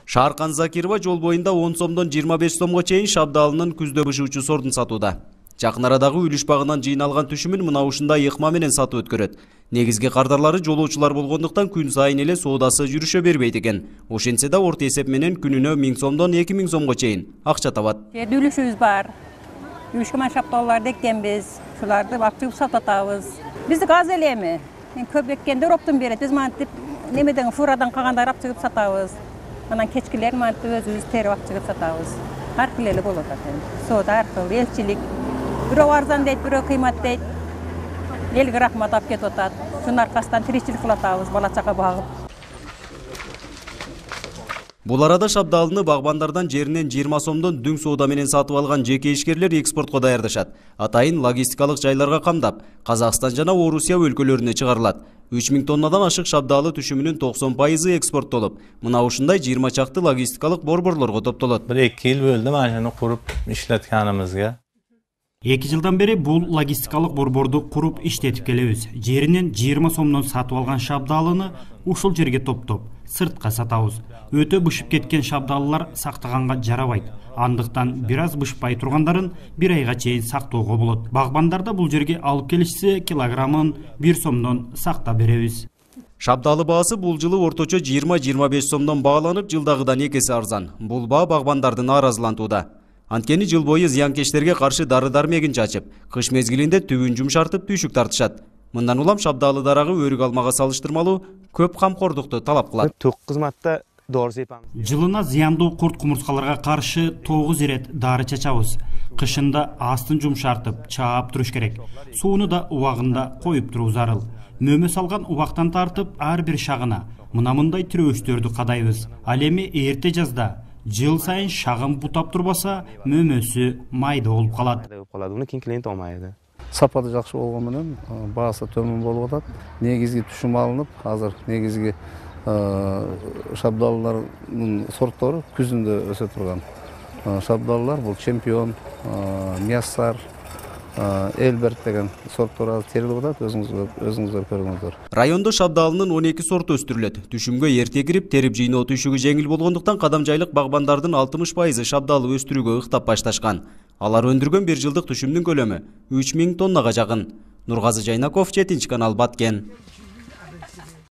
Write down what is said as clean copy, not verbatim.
Шааркан Закирова жол боюнда 10 сомдон 25 сомго чейин шабдалынын күздө бышуучу сортун сатууда. Жакын арадагы үлүш багынан жыйналган түшүмүн мына ушундай ыкма менен сатып өткөрөт. Негизги кардарлары жолоочулар болгондуктан күн сайын эле соодасы жүрүшө бербейт экен. Ошентсе да орто эсеп менен күнүнө 1000 сомдон 2000 сомго чейин акча табат. Үлүшүбүз бар. Үлүшкө шапталууларды эккенбиз. Шуларды акчып сатып атабыз. Биздик аз эле эми. Көп эккенде роптун берет. Биз мантип немеден фурадан калгандар акчып сатабыз. Анан кечкилер мантип өзүбүз терип акчып сатабыз. Ар кыл эле болот экен. Соода аркылуу элчилик. Бирөө арзан дейт, бирөө кыймат дейт. Элге рахмат алып кетип атат. Шунун аркасынан тиричилик кылып атабыз, бала чага багып. Бул арада шабдалыны багбандардан жеринен 20 сомдон дүң соода менен сатып алган жеке ишкерлер экспортко даярдашат. Атайын логистикалык жайларга камдап, Казакстан жана Орусия өлкөлөрүнө чыгарылат. 3000 тоннадан ашык шабдалы түшүмүнүн 90% экспорттолуп, мына ушундай 20 чакты логистикалык борборлорго топтолот. 1-2 жыл болду машина куруп иштеткенибизге. 2 жылдан бери бул логистикалык борборду куруп иштетип келебиз. Жеринен 20 сомдон сатып алган шабдалыны ушул жерге топтоп, сыртка сатабыз. Өтө бышып кеткен шабдалылар сактаганга жарабайт. Андыктан бир аз бышпай тургандарын 1 айга чейин сактоого болот. Багбандарда бул жерге алып келишсе, килограммын 1 сомдон сактап беребиз. Шабдалы баасы бул жылы орточо 20-25 сомдон бааланып, жылдагыдан 2 эсе арзан. Бул баа багбандарды нааразылантууда. Анткени жыл бою зыянкечтерге каршы дары-дармегин чачып, кыш мезгилинде түбүн жумшартып түйшүк тартышат. Мындан улам шабдалы дарагы өрүк алмага салыштырмалуу көп камкордукту талап кылат. Ток кызматта доор сыйпамыз. Жылына зыяндуу курт кумурскаларга каршы 9 ирет дары чачабыз. Кышында астын жумшартып, чаап туруш керек. Сууну да убагында коюп туруу зарыл. Мөмө салган убактан тартып ар бир шагына мына мындай тирөөчтөрдү кадайбыз. Ал эми эрте жазда жыл сайын шагын бутап турбаса, мөмөсү майда болуп калат. Муну кийин томайды. Сапаты жакшы болгон менен баасы төмөн болуп атат. Негизги түшүм алынып, азыр негизги шабдаллардын сорттору күзүндө өсө турган шабдаллар бул чемпион, мяссар, Элберт деген сорттор азыр терилип атат, өзүңүздөр көрүңүздөр. Райондо шабдалынын 12 сорту өстүрүлөт. Түшүмгө эрте кирип, терип жыйноо түйшүгү жеңил болгондуктан кадамжайлык багбандардын 60% шабдалы өстүрүүгө ыктап башташкан. Алар өндүргөн 1 жылдык түшүмдүн көлөмү 3000 тоннага жакын. Нургазы Жайнаков, 7 канал, Баткен.